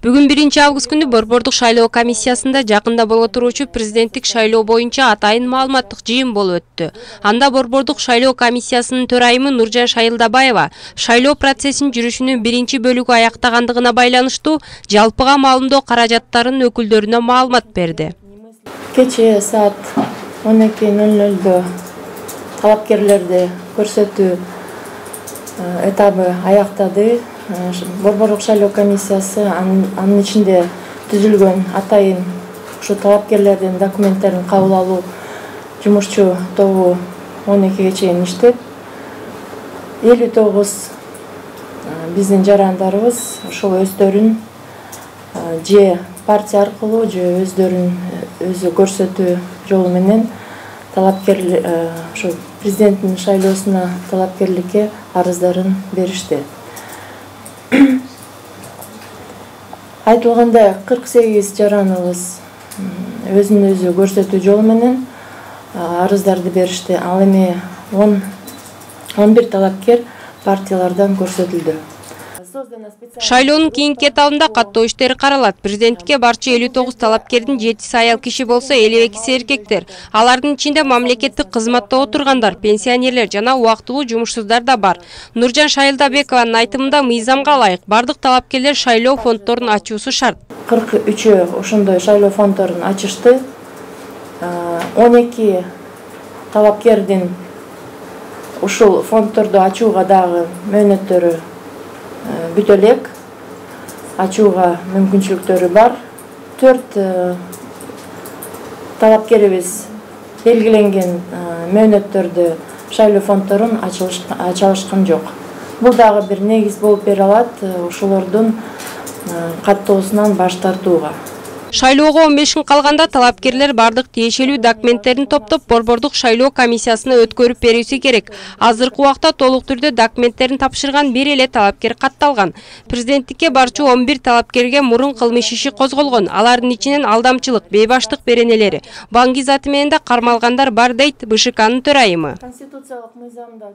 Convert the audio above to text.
Бүгүн 1-август күнү Борбордук шайлоо комиссиясында жакында боло туручу президенттик шайлоо боюнча атайын маалыматтык жыйын болуп өттү. Анда Борбордук шайлоо комиссиясынын төрайымы Нуржан Шайылдабаева шайлоо процессинин жүрүшүнүн 1-бөлүгү аяктагандыгына байланыштуу жалпыга маалымдоо каражаттарынын өкүлдөрүнө маалымат берди. Кечээ саат 12:00 талапкерлерди көрсөтүү этабы аяктады. Борбордук шайлоо комиссиясы анын ичинде түзүлгөн атайын ушу талапкерлердин документтерин кабыл алуу жумушчу тобу 12-ге чейин иштеп, 59 биздин жарандарыбыз ошол өздөрүн же партия аркылуу же өздөрүн өзү көрсөтүү жолу менен ошо президенттин шайлоосуна талапкерликке арыздарын беришти. Айтылгандай 48 жараныбыз өзүн өзү көрсөтүү жолу менен арыздарды беришти. Ал эми 11 талапкер партиялардан көрсөтүлдү. Шайлоонун кийинки этабында каттоо иштери каралат. Президенттикке барчу 59 талапкердин 7 аял киши болсо, 52 эркектер. Алардын ичинде мамлекеттик кызматта отургандар, пенсионерлер жана убактылуу жумушсуздар да бар. Нуржан Шайылдабекованын айтымында мыйзамга ылайык бардык талапкерлер шайлоо фонддорун ачуусу шарт. 43 ошондой шайлоо фонддорун ачышты. 12 талапкердин ушул фонддорду ачууга дагы мөөнөттөрү бүтө элек, ачууга мүмкүнчүлүктөрү бар. 4 талапкерибиз белгиленген мөөнөттөрдө шайлоо фонддорун ача алышкан жок. Бул дагы бир негиз болуп бере алат ошолордун каттоосунан баш тартууга. Шайлоого 15 күн калганда талапкерлер бардык тиешелүү документтерин топтоп Борбордук шайлоо комиссиясына өткөрүп берүүсү керек. Азыркы убакта толук түрдө документтерин тапшырган бир эле талапкер катталган. Президенттикке барчу 11 талапкерге мурун кылмыш иши козголгон. Алардын ичинен алдамчылык, бейбаштык беренелери, банк изаты менен да кармалгандар бар дейт БШКнын төрайымы. Конституциялык мыйзамда